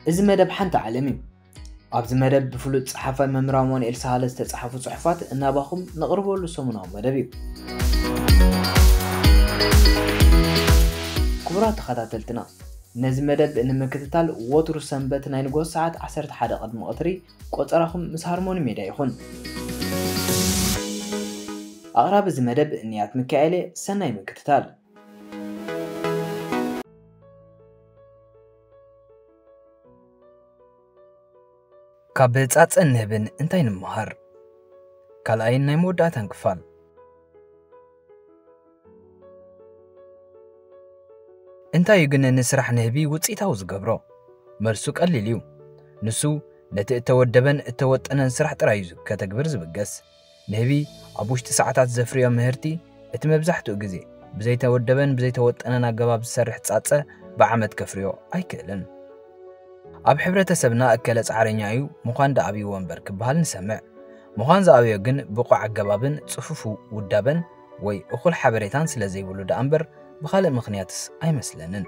እዚ መደብ ሓንቲ ዓለም እዩ። ኣብዚ መደብ ብፍሉጥ ጸሓፋይ መምህር ኣማኑኤል ሳህለ ዝተጻሕፉ ጽሑፋት እናባኹም ነቕርበሉ ሰሙናዊ መደብ እዩ። ክቡራት ተኸታተልትና፣ ነዚ መደብ ንምክትታል ወትሩ ሰንበት ናይ ንግሆ ሰዓት ዓሰርተ ሓደ ቅድሚ ቀትሪ ቆጸራኹም ምስ ሃርሞኒ ሜድያ ይኹን። ኣቕራቢ እዚ መደብ ንያት ሚካኤል እየ። ሰናይ ምክትታል። ካብ ጻጸን ንህብን እንታይ ንምሃር? ካልኣይን ናይ መወዳእታን ክፋል። እንታይ እዩ ግን ንስራሕ ንህቢ ውጽኢታዊ ዝገብሮ? መልሱ ቀሊል እዩ። ንሱ ነቲ እተወደበን እተወጠነን ስራሕ ጥራይ እዩ ከተግብር ዝብገስ። ንህቢ ኣብ ውሽጢ ሰዓታት ዘፍርዮ ምህርቲ፣ እቲ መብዛሕትኡ ግዜ ብዘይተወደበን ብዘይተወጠነን ኣገባብ ዝሰርሕ ጻጸ ብዓመት ከፍርዮ ኣይክእልን። ኣብ ሕብረተሰብና እከለ ጻዕረኛ እዩ፣ ምዃን ደኣ ኣብይዎ እምበር ክበሃል ንሰምዕ። ምዃን ዝኣብዮ ግን ብቑዕ ኣገባብን ጽፉፍ ውዳበን ወይ እኹል ሓበሬታን ስለ ዘይብሉ ደኣ እምበር ብኻልእ ምኽንያትስ ኣይመስለንን።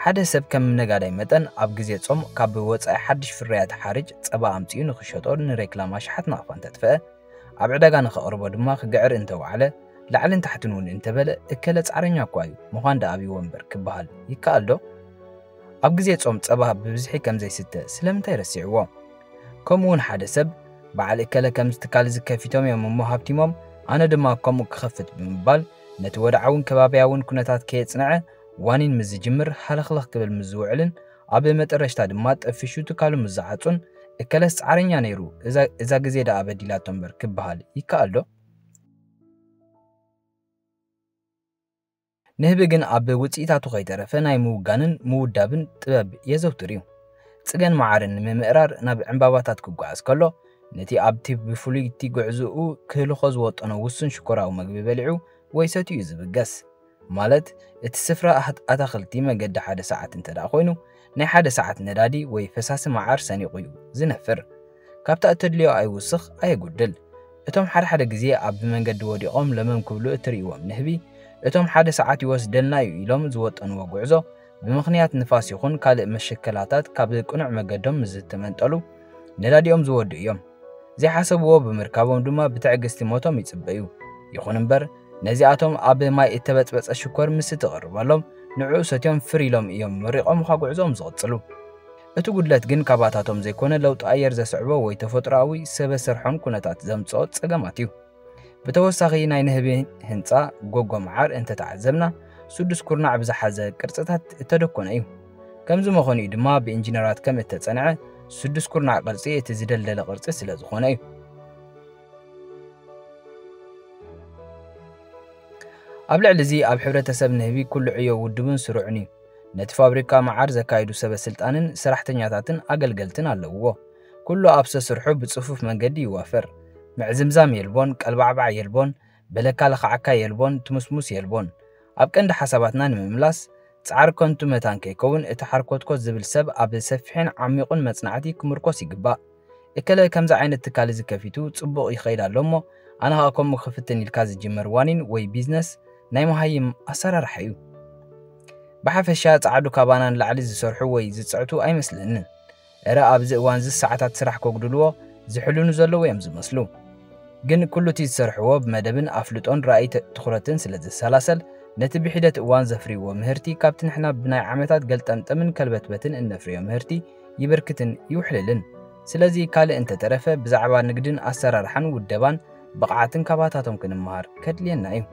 ሓደ ሰብ ከም ነጋዳይ መጠን ኣብ ግዜ ጾም ካብ ወጻኢ ሓድሽ ፍርያት ሓርጭ ጸባ ኣምጺኡ ንኽሸጦ ንሬክላም ኣሽሓት ናቕፋ እንተጥፍአ፣ ኣብ ዕዳጋ ንኸቕርቦ ድማ ክግዕር እንተወዓለ፣ ላዕልን ታሕትን እውን እንተበለ፣ እከለ ጻዕረኛ እኳ እዩ፣ ምዃን ደኣ ኣብይዎ እምበር ክበሃል ይከኣል ዶ? ኣብ ግዜ ጾም ጸባ ብብዝሒ ከም ዘይስተ ስለምንታይ ረሲዕዎ? ከምኡ እውን ሓደ ሰብ፣ በዓል እከለ ከምዚ ትካል እዚ ከፊቶም እዮም እሞ ሃብቲሞም፣ ኣነ ድማ ከምኡ ክኸፍት ብምባል፣ ነቲ ወድዓውን ከባብያውን ኩነታት ከየጽንዐ፣ ዋኒን ምስ ዝጅምር ሃለኽለኽ ክብል ምስ ዝውዕልን፣ ኣብ መጠረሽታ ድማ ጠፊሹ ትካሉ ምስ ዝዓጹን፣ እከለስ ጻዕረኛ ነይሩ፣ እዛ፣ እዛ ግዜ ደኣ በዲላቶ እምበር ክበሃል ይከኣል ዶ? ንህቢ ግን ኣብ ውጽኢታቱ ከይተረፈ ናይ ምውጋንን ምውዳብን ጥበብ የዘውትር እዩ። ጽገን መዓርን ንምምእራር ናብ ዕምባባታት ክጓዓዝ ከሎ፣ ነቲ ኣብቲ ብፍሉይቲ ጉዕዞኡ ክህልኾ ዝወጠኖ ውሱን ሽኮራዊ መግቢ በሊዑ ወይ ሰትዩ እዩ ዝብገስ። ማለት፣ እቲ ስፍራ ኣት-፣ ኣታኽልቲ መገዲ ሓደ ሰዓት እንተ ደኣ ኮይኑ፣ ናይ ሓደ ሰዓት ነዳዲ ወይ ፈሳሲ መዓር ሰኒቑ እዩ ዝነፍር። ካብታ እተድልዮ ኣይውስኽ ኣየጉድል። እቶም ሓደ ሓደ ግዜ ኣብ መንገዲ ወዲቖም ለመም ክብሉ እትርእይዎም ንህቢ፣ እቶም ሓደ ሰዓት ይወስደልና እዩ ኢሎም ዝወጠንዎ ጉዕዞ፣ ብምኽንያት ንፋስ ይኹን ካልእ መሸከላታት ካብ ቅኑዕ መገዶም ምስ ዝተመንጠሉ፣ ነዳዲኦም ዝወዱ እዮም። ዘይሓሰብዎ ብምርካቦም ድማ ብትዕግስቲ ሞቶም ይጽበዩ። ይኹን እምበር፣ ነዚኣቶም ኣብ ማይ እተበጽበጸ ሽኮር ምስ እትቕርበሎም፣ ንዕኡ ሰትዮም ፍር ኢሎም እዮም መሪቖምኻ ጉዕዞኦም ዝቕጽሉ። እቲ ጉድለት ግን ካባታቶም ዘይኮነ ለውጢ ኣየር ዘስዕቦ ወይ ተፈጥሮኣዊ ሰበ ሰርሖን ኩነታት ዘምጽኦ ጸገማት እዩ። ብተወሳኺ ናይ ንህቢ ህንጻ ጎጎ መዓር እንተተዓዘብና፣ ስዱስ ኩርናዕ ብዝሓዘ ቅርጽታት እተደኮነ እዩ። ከምዚ መኾኒኡ ድማ ብኢንጂነራት ከም እተጸንዐ፣ ስዱስ ኩርናዕ ቅርጺ እቲ ዝደልደለ ቅርጺ ስለ ዝኾነ እዩ። ኣብ ልዕሊ እዚ ኣብ ሕብረተሰብ ንህቢ ኩሉ ዕዮ ውድቡን ስሩዕን እዩ። ነቲ ፋብሪካ መዓር ዘካይዱ ሰበ ስልጣንን ሰራሕተኛታትን ኣገልገልትን ኣለውዎ። ኩሉ ኣብ ሰስርሑ ብጽፉፍ መንገዲ ይዋፈር። ምዕዝምዛም የልቦን፣ ቀልባዕባዕ የልቦን፣ በለካ ለኻዕካ የልቦን፣ ትሙስሙስ የልቦን። ኣብ ቀንዲ ሓሳባትና ንምምላስ፣ ጻዕሪ ከንቱ መታን ከይከውን፣ እቲ ሓርኮትኮት ዝብል ሰብ ኣብ ሰፊሕን ዓሚቑን መጽናዕቲ ክምርኮስ ይግባእ። እከለ ከምዚ ዓይነት ትካል እዚ ከፊቱ ጽቡቕ ይኸይድ ኣሎ እሞ፣ ኣነ ኸኣ ከምኡ ክፍትን ኢልካ ዝጅመር ዋኒን ወይ ቢዝነስ ናይ መሃይም ኣሰራርሓ እዩ። ብሓፈሻ ጻዕዱ ካባና ንላዕሊ ዝሰርሑ ወይ ዝጽዕቱ ኣይመስለንን። እረ ኣብዚ እዋንዚ ሰዓታት ስራሕ ከጉድልዎ ዝሕልኑ ዘለዉ እዮም ዝመስሉ። ግን ኩሉ እቲ ዝሰርሕዎ ብመደብን ኣፍልጦን ራእይ ተ-፣ ትኹረትን ስለ ዝሰላሰል፣ ነቲ ብሒደት እዋን ዘፍርይዎ ምህርቲ ካብቲ ንሕና ብናይ ዓመታት ገልጠምጠምን ከልበትበትን እነፍርዮ ምህርቲ ይብርክትን ይውሕልልን። ስለዚ ካልእ እንተተረፈ ብዛዕባ ንግድን ኣሰራርሓን ውደባን ብቕዓትን ካባታቶም ክንመሃር ከድልየና እዩ።